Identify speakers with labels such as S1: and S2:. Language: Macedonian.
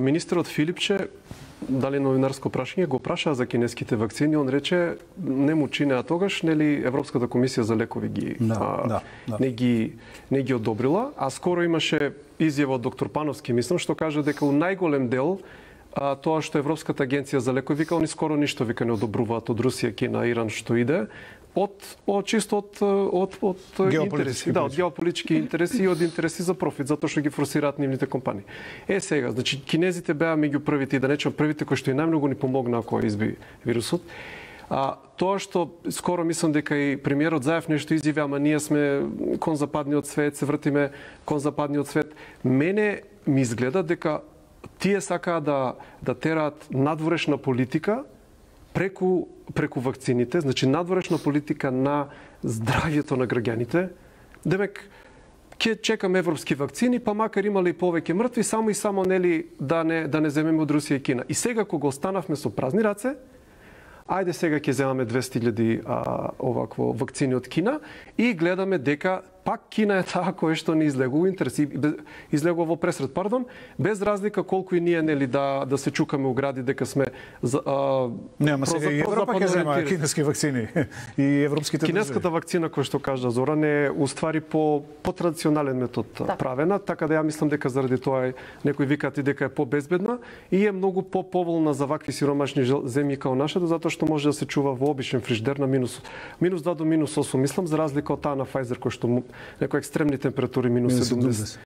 S1: Министерот Филипче, дали новинарско прашање, го праша за кинеските вакцини, он рече не му чинеа тогаш, нели Европската комисија за лекови не ги одобрила, а скоро имаше изјава од доктор Пановски, мислам, што кажа дека у најголем дел тоа што Европската агенција за лекови вика, они скоро ништо вика не одобруваат од Русија, Кина, Иран што иде, чисто од интереси, од геополитички интереси и од интереси за профит, затоа што ги форсираат нивните компании. Сега, значи кинезите беа меѓу првите, и да речем првите кои што и најмногу ни помогнаа кога изби вирусот. Тоа што скоро мислам дека и премиерот Заев нешто изјави, ама ние сме кон западниот свет, се вртиме кон западниот свет. Мене ми изгледа дека тие сакаа да тераат надворешна политика преку вакцините, значи надворешна политика на здравјето на граѓаните. Демек, ќе чекаме европски вакцини, па макар имале и повеќе мртви, само и само нели да не земеме од Русија и Кина. И сега кога останавме со празни раце, ајде сега ќе земаме 200.000 овакво вакцини од Кина и гледаме дека пак Кина е таа која што не излегува во пресред, без разлика колку и ние нели да се чукаме у гради дека сме
S2: Нема сега и Европа ќе зема кинески вакцини и европските
S1: кинеската вакцина која што кажа Зоран е уствари по традиционален метод правена, така да ја мислам дека заради тоа некои викаат и дека е побезбедна и е многу поволна за вакви сиромашни земји као нашата, затоа што може да се чува во обичен фриждер на -2 до -8, мислам, за разлика од таа на Pfizer кој што некои екстремни температури -70.